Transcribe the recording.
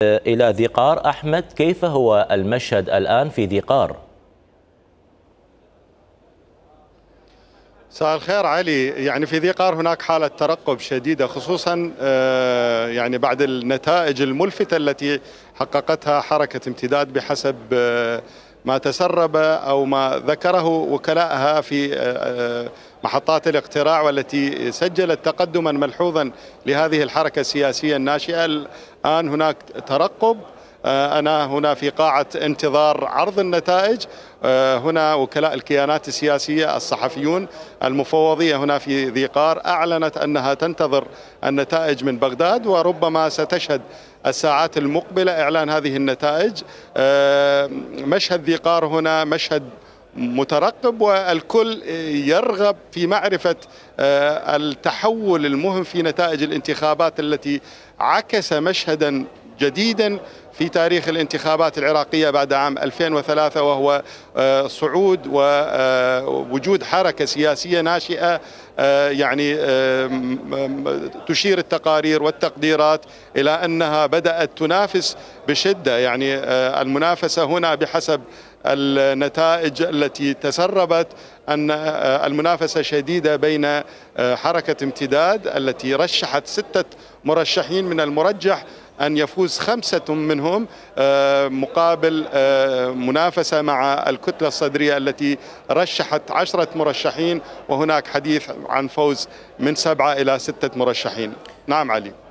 إلى ذي قار. أحمد، كيف هو المشهد الآن في ذي قار؟ مساء الخير علي. يعني في ذي قار هناك حالة ترقب شديدة، خصوصا يعني بعد النتائج الملفتة التي حققتها حركة امتداد بحسب ما تسرب أو ما ذكره وكلاءها في محطات الاقتراع، والتي سجلت تقدما ملحوظا لهذه الحركة السياسية الناشئة. الآن هناك ترقب، أنا هنا في قاعة انتظار عرض النتائج. هنا وكلاء الكيانات السياسية، الصحفيون، المفوضية هنا في ذي قار أعلنت أنها تنتظر النتائج من بغداد، وربما ستشهد الساعات المقبلة إعلان هذه النتائج. مشهد ذي قار هنا مشهد مترقب، والكل يرغب في معرفة التحول المهم في نتائج الانتخابات التي عكس مشهدا جديدا في تاريخ الانتخابات العراقية بعد عام 2003، وهو صعود ووجود حركة سياسية ناشئة. يعني تشير التقارير والتقديرات إلى أنها بدأت تنافس بشدة. يعني المنافسة هنا بحسب النتائج التي تسربت أن المنافسة شديدة بين حركة امتداد التي رشحت 6 مرشحين، من المرجح أن يفوز 5 منهم، مقابل منافسة مع الكتلة الصدرية التي رشحت 10 مرشحين، وهناك حديث عن فوز من 7 إلى 6 مرشحين. نعم علي.